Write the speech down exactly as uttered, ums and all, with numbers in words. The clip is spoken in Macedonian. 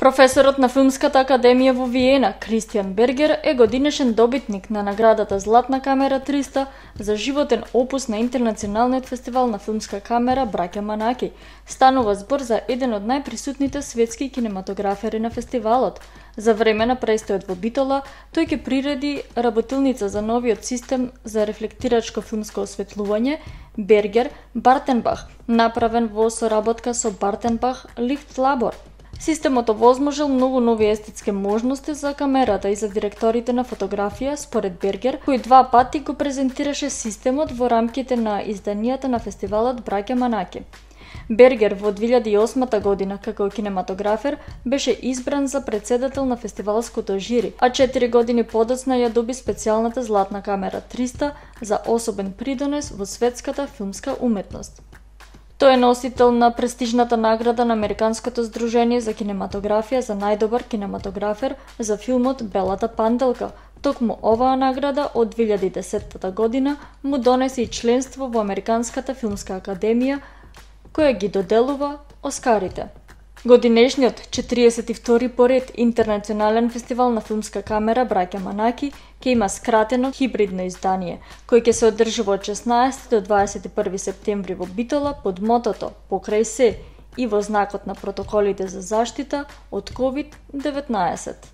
Професорот на Филмската академија во Виена, Кристијан Бергер, е годинешен добитник на наградата Златна камера триста за животен опус на Интернационалниот фестивал на филмска камера Браќа Манаки. Станува збор за еден од најприсутните светски кинематографери на фестивалот. За време на престојот во Битола, тој ќе приреди работилница за новиот систем за рефлектирачко филмско осветлување Бергер Бартенбах, направен во соработка со Бартенбах Лихт Лабор. Системот овозможил многу нови естетски можности за камерата и за директорите на фотографија, според Бергер, кој два пати го презентираше системот во рамките на изданијата на фестивалот Браќа Манаки. Бергер во две илјади и осма година како кинематографер беше избран за председател на фестивалското жири, а четири години подоцна ја доби специјалната Златна камера триста за особен придонес во светската филмска уметност. Тој е носител на престижната награда на Американското здружение за кинематографија за најдобар кинематографер за филмот Белата панделка. Токму оваа награда од две илјади и десета година му донесе и членство во Американската филмска академија, која ги доделува Оскарите. Годинешниот четириесет и втори поред Интернационален фестивал на филмска камера Браќа Манаки ќе има скратено хибридно издание, кој ќе се одржува од шеснаесети до дваесет и први септември во Битола под мотото "Покрај се" и во знакот на протоколите за заштита од ковид деветнаесет.